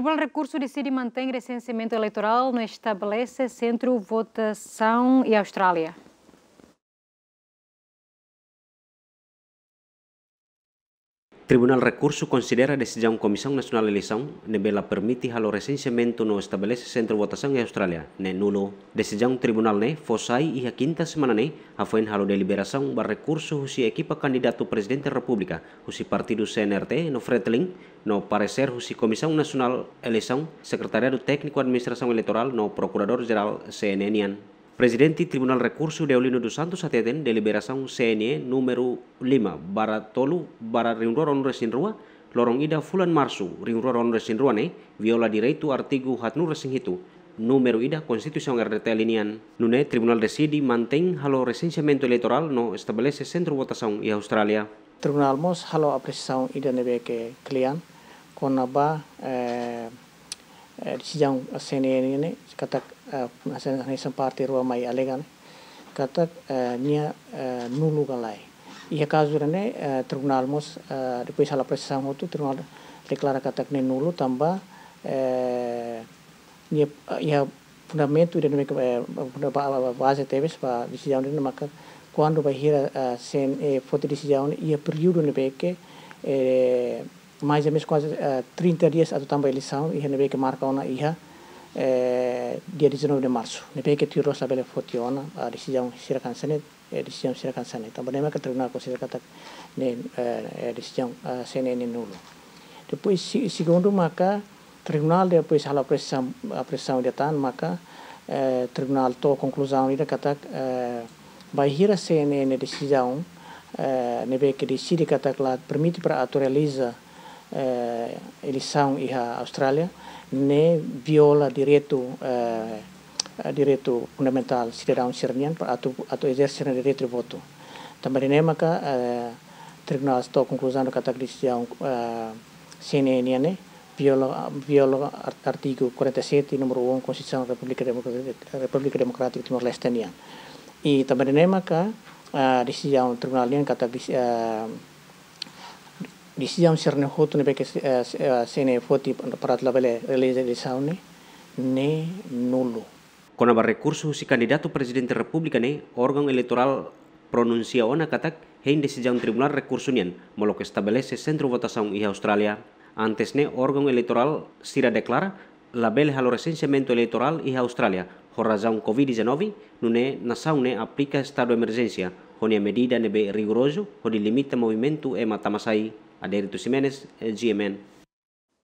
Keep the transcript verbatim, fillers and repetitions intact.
Tribunál Rekursu deside mantein resenseamentu eleitorál no estabelese sentru votasaun iha Austrália. Tribunál Rekursu konsidera desizaun Komisaun Nasionál Eleisaun ne'ebé la permite halo resenseamentu no estabelese sentru votasaun iha Austrália ne'e nulu. Desizaun tribunál ne'e fó sai iha kinta semana ne'e, hafoin halo deliberasaun ba rekursu husi ekipa kandidatu Prezidente Repúblika husi partidu C N R T no Fretilin, no paresér husi Komisaun Nasionál Eleisaun, Sekretariadu Tékniku Administrasaun Eleitorál no Prokuradór Jerál C N E nian. Prezidente Tribunál Rekursu Deolino dos Santos hateten deliberasaun C N E númeru lima barra tolu barra rihun rua ruanulu-resin-rua, loron ida fulan Marsu rihun rua ruanulu-resin-rua ne'e viola direitu artigu haatnulu-resin-hitu, númeru ida Konstituisaun R D T L nian. Nune'e Tribunál deside mantein halo resenseamentu eleitorál no estabelese sentru votasaun iha Austrália. Tribunál mós halo apresiasaun ida ne'ebé ke kle'an kona-ba, eh, eh, desizaun C N E ne'e katak, eh, hanesan, hanesan parte rua mai alega ne'e katak, eh, nia, eh, nulu ka lae. Iha kazu ne'e, eh, tribunál mós, eh, depois halo apresiasaun hotu, tribunál deklara katak ne'e nulu tanba, eh, nia, eh, iha fundamentu ida ne'ebé ke, eh, funda-, ba-, ba-, baze tebes ba desizaun ne'e maka kuandu bainhira, eh, C N E foti desizaun iha períodu ne'ebé ke, eh, mais ou menos kuaze, eh, trinta dias atu tama ba eleisaun, iha ne'ebé ke marka ona iha, eh, dia dezanove de Marsu. Ne'ebé ke tuir loloos labele foti ona, ah, desizaun sira hanesan ne'e, eh, desizaun sira hanesan ne'e. Tanba ne'e maka tribunál konsidera katak ne'e, eh, eh, desizaun, ah, C N E ne'e nulu. Depois, se-, segundu maka, tribunál depois halo apresiasaun, apresiasaun ida tan maka, eh, tribunál to'o konkluzaun ida katak, eh, bainhira C N E nia desizaun, eh, ne'ebé ke deside katak la permite para atu realiza, eh, eleisaun iha Austrália, ne'e viola direitu, eh, eh, direitu fundamentál sidadaun sira-nian para atu, atu ezerse nia direitu de votu. Tanba ne'e maka, eh, tribunál to'o konkluzaun katak desizaun, eh, C N E nian ne'e viola, viola ar-, artigu quarenta e sete, númeru um, Konstituisaun Repúblika Demokra-, Repúblika Demokrátika Timor-Leste nian. I tanba ne'e maka, ah, desizaun tribunál nian katak des-, ah, desizaun sira-ne'e hotu ne'ebé ke, eh, eh, C N E foti para atu labele realiza eleisaun ne'e, ne'e nulu. Kona-ba rekursu husi kandidatu Prezidente Repúblika ne'e, órgaun eleitorál pronunsia ona katak hein desizaun Tribunál Rekursu nian, molok estabelese sentru votasaun iha Austrália. Antes ne'e, órgaun eleitorál sira deklara labele halo resenseamentu eleitorál iha Austrália, ho razaun covid dezanove, nune'e nasaun ne'e aplika estadu emerjénsia, ho nia medida ne'ebé rigorozu, hodi limita movimentu ema tama-sai. Adérito Ximenes, eh, G M N.